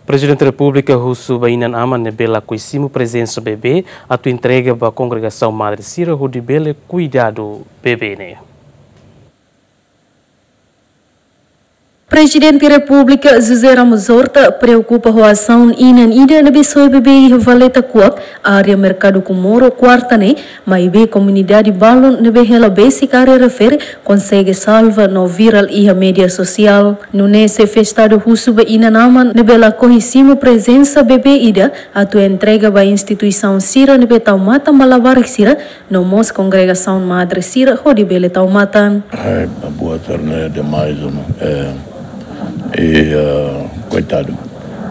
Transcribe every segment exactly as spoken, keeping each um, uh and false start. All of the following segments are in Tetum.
Prezidente Repúblika husu ba inan-aman ne'ebé lakohi simu prezensa bebé atu entrega ba kongregasaun madre sira hodi bele kuidadu bebé ne'e. Prezidente Repúblika José Ramos Horta preokupa ho asaun inan ida ne'ebé soe bebé iha Valeta Kuak, área Merkadu Comoro, kuarta ne'e, maibé komunidade balun ne'ebé hela besik área refere konsege salva no viral iha média sosiál. Nune'e xefe estadu husu ba inan-aman ne'ebé lakohi simu prezensa bebé ida atu entrega ba instituisaun sira ne'ebé tau matan ba labarik sira, no mós kongregasaun madre sira hodi bele tau matan. Ai, boa tarde demais, né? É, e, ah, koitadu.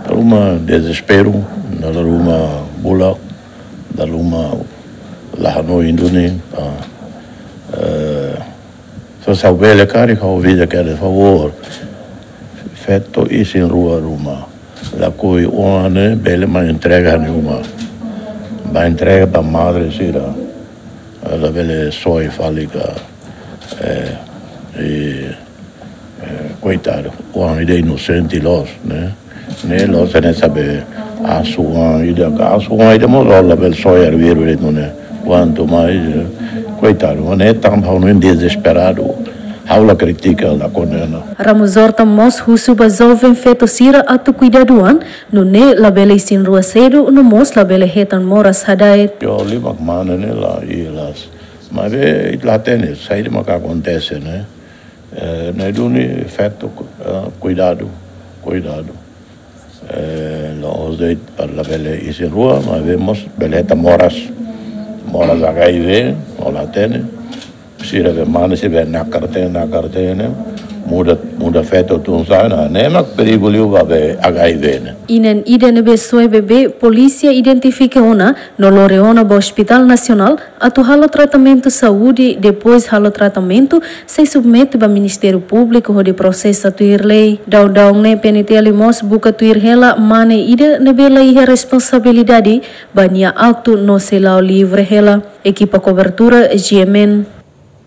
Dala ruma dezesperu, dala ruma bulak, dala ruma la hanoin duni, ah, eh, se ha'u bele karik, ha'u visa kere favór. Feto isin-rua ruma. Lakohi oan ne'e bele mai entrega iha uma. Ba entrega ba madre sira. Labele soe fali ka, eh, e, eh, koitadu. Oan ida inosente loos, ne'e? Ne'e loos ne'e sabe asu oan ida ka asu oan ida mós labele soe arbiru de'it ne'e. Kuantu mais, eh, koitadu, mas ne'e tanba ha'u-nia dezesperadu. Ha'u la kritika, la kondena. Ramos Horta mós husu ba joven feto sira atu kuidadu an, nune'e labele isin-rua sedu, no mós labele hetan moras hada'et. Yo, liu mak mane ne'e la, i las. Maibé, ita la hatene, saida mak akontese, ne'e? Eh, ne'e duni feto, eh, kuidadu, kuidadu. Eh, la'ós de'it labele isin-rua, maibé mós bele hetan moras. Moras H I V, no la hatene. Sira be mane, sira be nakar hatene, nakar hatene. Muda, muda feto tun sa'e, ne'e mak perigu liu ba be H I V ne'e. Inan ida ne'ebé soe bebé, polísia identifika ona, no lori ona ba Hospital Nasionál, atu halo tratamentu saúde, depois halo tratamentu, sei submete ba Ministériu Públiku hodi prosesa tuir lei. Daudaun ne'e P N T L mós buka tuir hela mane ida ne'ebé la iha responsabilidade ba nia aktu no sei la'o livre hela. Ekipa kobertura G M N.